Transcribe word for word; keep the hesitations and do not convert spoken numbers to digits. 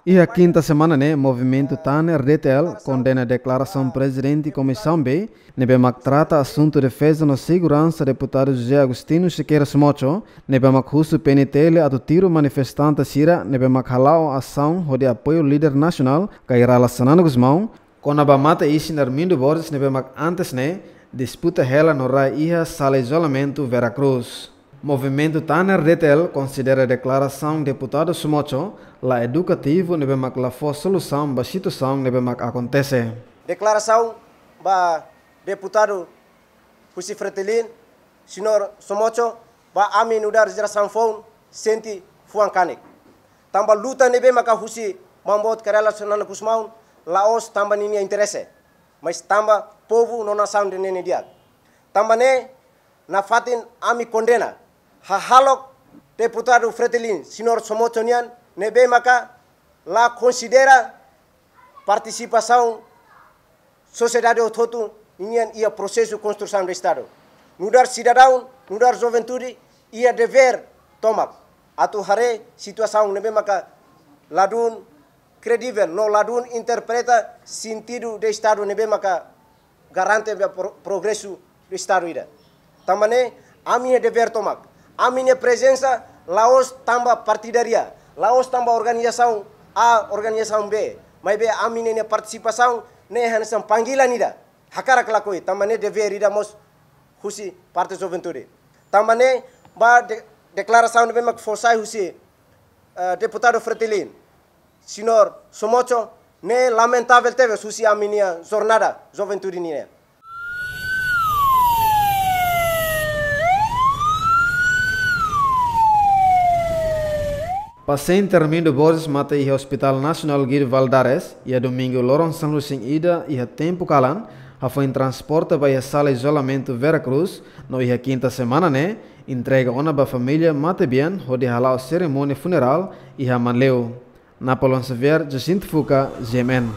Iha kinta semana ne'e, Movimentu Tanner D T L kondena deklarasaun Prezidente Komisaun B ne'ebé mak trata asuntu defeza no seguransa Deputadu José Agostinho Sequeira Somocho, ne'ebé mak husu P N T L atu tiru manifestante sira ne'ebé mak hala'o asaun hodi apoiu líder nasionál Kay Rala Xanana Gusmão, kona-ba mate-isin Armindo Borges ne'ebé mak antes ne'e disputa hela no rai iha sala izolamentu Vera Cruz. Movimentu Tanner D T L konsidera deklarasaun Deputadu Somocho la edukativu ne'ebé mak la fó solusaun ba situasaun ne'ebé mak akontese. Deklarasaun ba deputadu husi Fretilin, Señór Somocho, ba ami nu'udar jerasaun foun sente fuan kanek. Tanba luta ne'ebé maka husi Maun Boot Kay Rala Xanana Gusmão la'ós tanba ninia interese, mas tanba povu no nasaun ida-ne'e nia di'ak. Tanba ne'e, nafatin ami kondena hahalok deputadu Fretilin, Señór Somocho nian, ne'ebé maka la konsidera partisipasaun sosiedade hotu-hotu nian iha prosesu konstrusaun de Estadu. Nu'udar sidadaun, nu'udar juventude, iha devér tomak atu haree situasaun ne'ebé maka ladún kredivel no ladún interpreta sentidu de Estadu ne'ebé maka garante ba pro-, progresu de Estadu ida. Tanba ne'e, ami-nia devér tomak, ami-nia prezensa la'ós tanba partidaria, la'ós tanba organizasaun A, organizasaun B, maibé ami-nia partisipasaun ne'e hanesan panggilan ida, hakarak lakohi, tanba ne'e devér ida mós husi parte juventude. Tanba ne'e, ba de-, deklarasaun ne'ebé mak fó sai husi, eh, deputadu Fretilin, Señór Somocho, ne'e lamentavel tebes husi ami-nia jornada juventude nian. Pasiente Armindo Borges mate iha Hospital Nasionál Guido Valadares, iha domingu loron sanulu-resin-ida iha tempu kalan, hafoin transporta ba iha sala izolamentu Vera Cruz, no iha kinta semana ne'e, entrega ona ba família matebian hodi hala'o serimónia funerál iha Manleu. Napoleon Xavier, Jacinto Fuca, G M N.